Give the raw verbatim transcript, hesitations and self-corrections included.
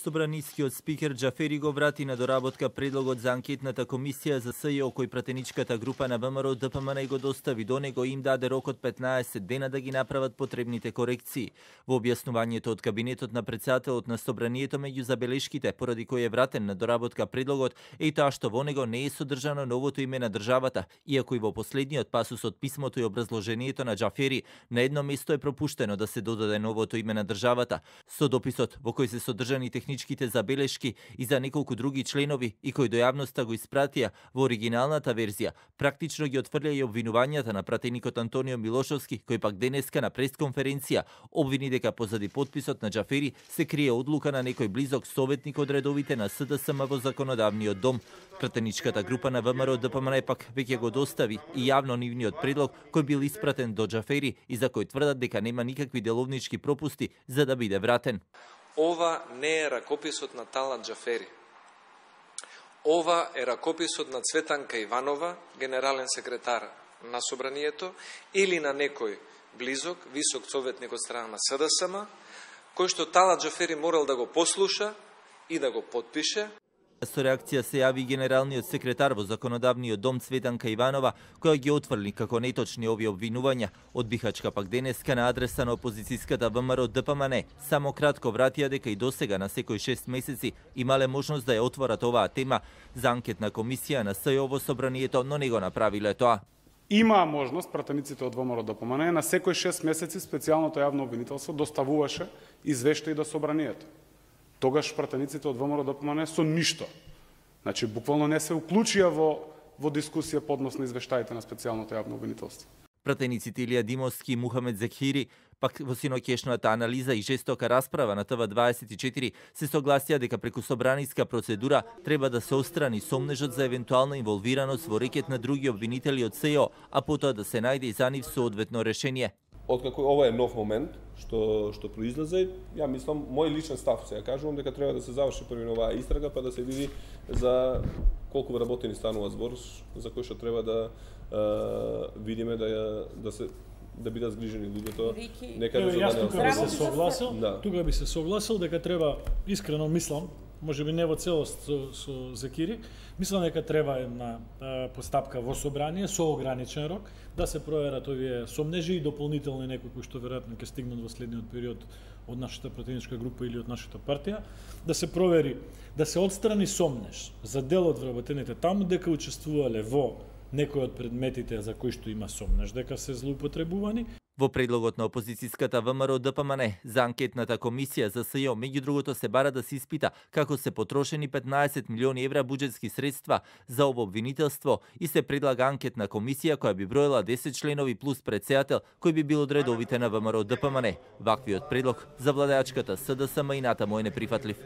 Собранискиот спикер Џафери го врати на доработка предлогот за анкетната комисија за СЈО кој пратеничката група на ВМРО Д П М Н го достави до него и им даде рок од петнаесет дена да ги направат потребните корекции. Во објаснувањето од кабинетот на претседателот на Собранието меѓу забелешките поради кој е вратен на доработка предлогот е и тоа што во него не е содржано новото име на државата, иако и во последниот пасус од писмото и образложението на Џафери на едно место е пропуштено да се додаде новото име на државата. Со дописот во кој се содржани техничките забелешки и за неколку други членови и кој до јавноста го испратија во оригиналната верзија, практично ги отфрља и обвинувањата на пратеникот Антонио Милошовски, кој пак денеска на пресконференција обвини дека позади подписот на Џафери се крие одлука на некој близок советник од редовите на С Д С М во законодавниот дом. Пратеничката група на В М R Д П М Н пак веќе го достави и јавно нивниот предлог кој бил испратен до Џафери и за кој тврдат дека нема никакви деловнички пропусти за да биде вратен. Ова не е ракописот на Талат Џафери. Ова е ракописот на Цветанка Иванова, генерален секретар на Собранието, или на некој близок, висок советник од страна на С Д С М, кој што Талат Џафери морал да го послуша и да го подпише. Со реакција се јави генералниот секретар во законодавниот дом Цветанка Иванова, која ги отфрли како неточни овие обвинувања. Од Бихачка пак денеска на адреса на опозицијската В М R Д П М Н само кратко вратија дека и досега на секој шест месеци имале можност да ја отворат оваа тема за анкетна комисија на СЈО во Собранието, но не го направиле тоа. Има можност пратениците од В М R Д П М Н на секој шест месеци специјалното јавно обвинителство доставуваше извештаи до Собранието. Тогаш пратениците од В М R Д П М Н со ништо. Значи, буквално не се уклучија во, во дискусија поднос на извештаите на специјалното јавно обвинителство. Пратениците Илија Димовски и Мухамед Зехири пак во синоќешната анализа и жестока расправа на Т В дваесет и четири се согласија дека преку собраниска процедура треба да се отстрани сомнежот за евентуална инволвираност во рекет на други обвинители од СЈО, а потоа да се најде и за нив соодветно решение. Откако ова е нов момент што што произлезе, ја мислам, мој личен став се ја кажувам дека треба да се заврши први оваа истрага па да се види за колку вработени станува збор, за кој што треба да е, видиме да ја да се да бидат згрижени луѓето. Нека да јас тука би се согласил, да. тука би се согласил дека треба, искрено мислам, можеби не во целост со, со Зекири, мислам дека треба една а, постапка во собрание со ограничен рок да се проверат овие сомнежи и дополнителни некои кои што веројатно ќе стигнат во следниот период од нашата пратеничка група или од нашата партија, да се провери, да се отстрани сомнеж за дел од вработените таму дека учествувале во некои од предметите за кои што има сомнеж дека се злоупотребувани. Во предлогот на опозицијската В М R Д П М Н за анкетната комисија за СЈО, меѓу другото се бара да се испита како се потрошени петнаесет милиони евра буџетски средства за ово обвинителство и се предлага анкетна комисија која би броела десет членови плюс претседател кој би бил од редовите на В М R Д П М Н. Ваквиот предлог за владеачката С Д С М и натаму е неприфатлив.